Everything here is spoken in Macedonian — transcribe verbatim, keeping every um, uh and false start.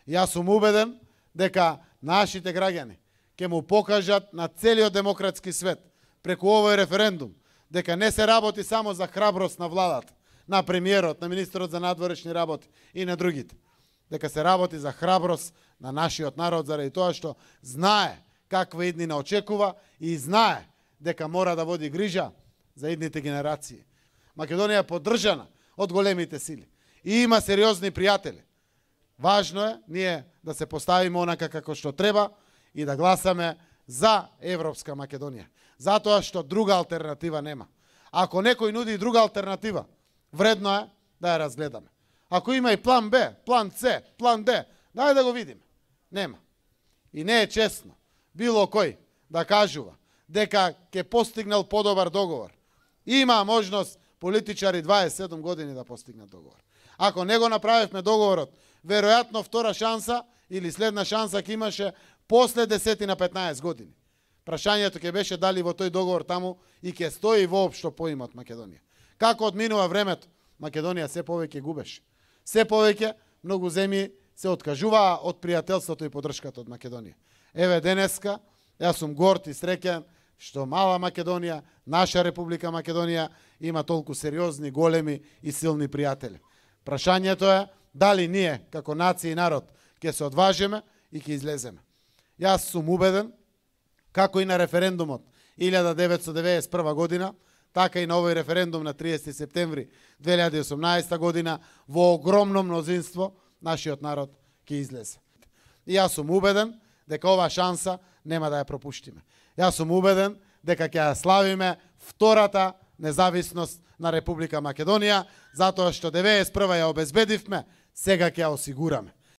Јас сум убеден дека нашите граѓани ќе му покажат на целиот демократски свет преку овој референдум дека не се работи само за храброст на владата, на премиерот, на министерот за надворешни работи и на другите. Дека се работи за храброст на нашиот народ заради тоа што знае каква иднина очекува и знае дека мора да води грижа за идните генерации. Македонија е поддржана од големите сили и има сериозни пријатели. Важно е ние да се поставиме онака како што треба и да гласаме за Европска Македонија. Затоа што друга алтернатива нема. Ако некој нуди друга алтернатива, вредно е да ја разгледаме. Ако има и план Б, план С, план Д, дај да го видиме. Нема. И не е честно било кој да кажува дека ќе постигнал подобар договор. Има можност политичари дваесет и седум години да постигнат договор. Ако не го направивме договорот, веројатно втора шанса или следна шанса ќе имаше после десет на петнаесет години. Прашањето ќе беше дали во тој договор таму и ќе стои воопшто поимот Македонија. Како одминува времето, Македонија се повеќе губеше. Се повеќе многу земји се откажуваа од пријателството и поддршката од Македонија. Еве денеска, јас сум горд и среќен што мала Македонија, наша Република Македонија, има толку сериозни, големи и силни пријатели. Прашањето е дали ние, како нација и народ, ќе се одважиме и ќе излеземе. Јас сум убеден, како и на референдумот илјада деветстотини деветдесет и прва година, така и на овој референдум на триесети септември две илјади и осумнаесета година, во огромно мнозинство нашиот народ ќе излезе. И јас сум убеден дека ова шанса нема да ја пропуштиме. Јас сум убеден дека ќе ја славиме втората независност на Република Македонија, затоа што деветдесет и прва ја обезбедивме, сега ќе ја осигураме.